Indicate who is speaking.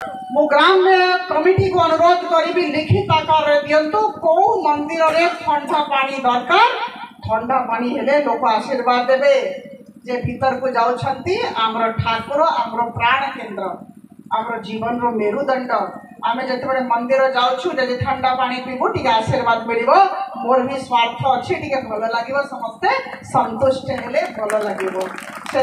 Speaker 1: ମୁଁ ଗ୍ରାମ୍ୟ କମିଟିକୁ ଅନୁରୋଧ କରିବି, ଲିଖିତ ଆକାରରେ ଦିଅନ୍ତୁ କୋଉ ମନ୍ଦିରରେ ଥଣ୍ଡା ପାଣି ଦରକାର। ଥଣ୍ଡା ପାଣି ହେଲେ ଲୋକ ଆଶୀର୍ବାଦ ଦେବେ ଯେ ଭିତରକୁ ଯାଉଛନ୍ତି ଆମର ଠାକୁର, ଆମର ପ୍ରାଣ କେନ୍ଦ୍ର, ଆମର ଜୀବନର ମେରୁଦଣ୍ଡ। ଆମେ ଯେତେବେଳେ ମନ୍ଦିର ଯାଉଛୁ, ଯଦି ଥଣ୍ଡା ପାଣି ପିଇବୁ ଟିକେ ଆଶୀର୍ବାଦ ମିଳିବ। ମୋର ବି ସ୍ୱାର୍ଥ ଅଛି, ଟିକେ ଭଲ ଲାଗିବ, ସମସ୍ତେ ସନ୍ତୁଷ୍ଟ ହେଲେ ଭଲ ଲାଗିବ। ସେ